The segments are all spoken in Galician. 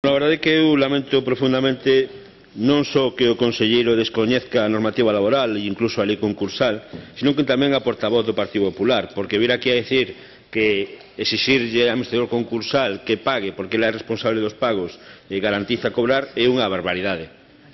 A verdade é que eu lamento profundamente non só que o conselleiro descoñezca a normativa laboral e incluso a lei concursal, sino que tamén a portavoz do Partido Popular, porque vir aquí a decir que exixirlle ao administrador concursal que pague porque ele é responsable dos pagos e garantiza cobrar é unha barbaridade.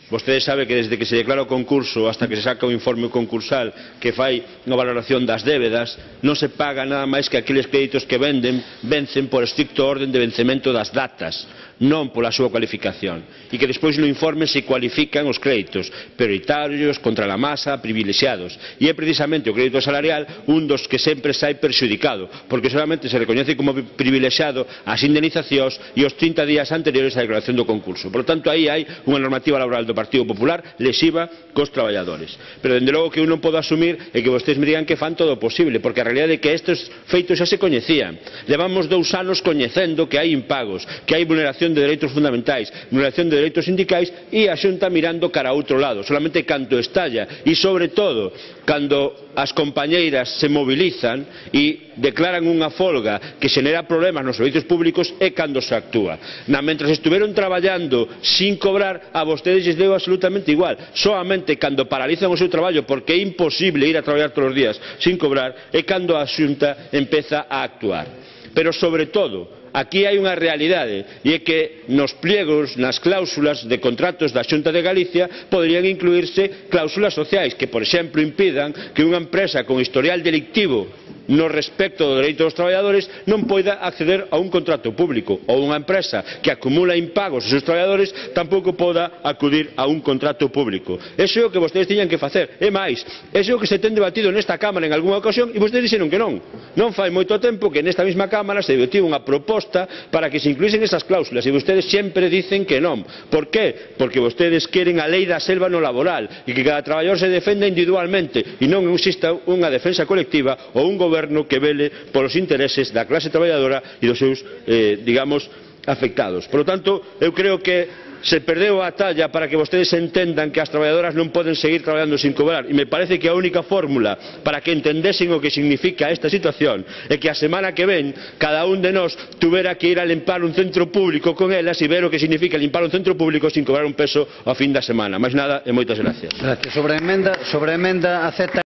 Vostede sabe que desde que se declara o concurso hasta que se saca o informe concursal que fai unha valoración das débedas non se paga nada máis que aqueles créditos que vencen por estricto orden de vencemento das datas, non pola súa cualificación, e que despois no informe se cualifican os créditos prioritarios, contra a masa, privilexiados, e é precisamente o crédito salarial un dos que sempre sai perxudicado, porque solamente se recoñece como privilexiado as indemnizacións e os 30 días anteriores á declaración do concurso. Por lo tanto, aí hai unha normativa laboral do Partido Popular lesiva cos traballadores. Pero, dende logo, que eu non podo asumir é que vostedes me digan que fan todo o posible, porque a realidade é que estes feitos xa se coñecían. Levamos 2 anos coñecendo que hai impagos, que hai vulneración de dereitos fundamentais, vulneración de dereitos sindicais e a Xunta mirando cara a outro lado. Solamente cando estalla e, sobre todo, cando as compañeiras se mobilizan e declaran unha folga que xenera problemas nos servizos públicos é cando se actúa. Mentres estuveron traballando sin cobrar, a vostedes lles deu absolutamente igual. Solamente cando paralizan o seu traballo porque é imposible ir a traballar todos os días sin cobrar é cando a Xunta empeza a actuar. Pero, sobre todo, aquí hai unha realidade, e é que nos pliegos, nas cláusulas de contratos da Xunta de Galicia poderían incluírse cláusulas sociais que, por exemplo, impidan que unha empresa con historial delictivo no respecto do dereito dos traballadores non poida acceder a un contrato público, ou unha empresa que acumula impagos aos seus traballadores tampouco poda acudir a un contrato público. Eso é o que vostedes tiñan que facer. É máis, eso é o que se ten debatido nesta Cámara en algunha ocasión e vostedes dixeron que non. Non fai moito tempo que nesta mesma Cámara se debatiu unha proposta para que se incluísen esas cláusulas e vostedes sempre dicen que non. Por qué? Porque vostedes queren a lei da selva no laboral e que cada traballador se defenda individualmente e non exista unha defensa colectiva ou un goberno que vele polos intereses da clase traballadora e dos seus, digamos, afectados. Por lo tanto, eu creo que se perdeu a talla para que vostedes entendan que as traballadoras non poden seguir traballando sin cobrar, e me parece que a única fórmula para que entendesen o que significa esta situación é que a semana que ven cada un de nós tuvera que ir a limpar un centro público con elas e ver o que significa limpar un centro público sin cobrar un peso ao fin da semana. Máis nada e moitas gracias. Sobre a emenda acepta